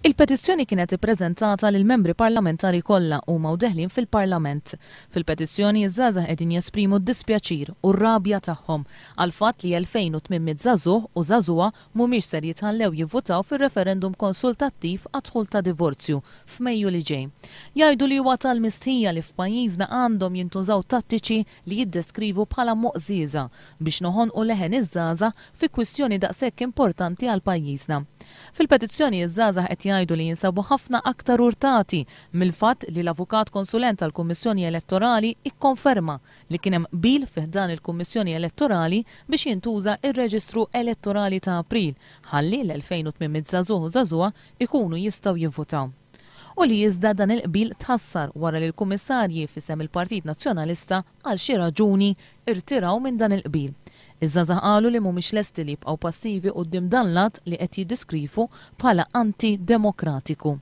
Il-petizzjoni kienet ippreżentata lill-membri parlamentari kollha huma u deħlin fil-Parlament. Fil-petizzjoni ż-żgħażagħ qegħdin jesprimu d-dispjaċir u r-rabja tagħhom għall-fatt li 2,800 żagħżugħ u żagħżugħa mhumiex ser jitħallew jivvutaw fir-referendum konsultattiv għad-dħul ta' divorzju f'Mejju li ġej. Jgħidu li huwa tal-mistħija li f'pajjiżna għandhom jintużaw tattiċi li jiddeskrivu bħala moqżieża biex noħonqu leħen iż-żgħażagħ fi kwistjoni daqshekk importanti għal pajjiżna. Fil-petizzjoni iż-żgħażagħ qed jgħidu li jinsabu ħafna aktar urtati mill-fatt li l-avukat konsulent tal-Kummissjoni Elettorali ikkonferma li kien hemm qbil fi ħdan il-Kummissjoni Elettorali biex jintuża r-reġistru elettorali ta' April ħalli l-2,800 żagħżugħ u żagħżugħa jkunu jistgħu jivvutaw. U li iżda dan il-qbil tħassar wara li l-Kummissarji f'isem il-Partit Nazzjonalista għal xi raġuni rtiraw minn dan il-qbil. Iż-żgħażagħ qalu li mhumiex lesti li jibqgħu passivi quddiem dan l-att li qed jiddiskrivu bħala anti-demokratiku.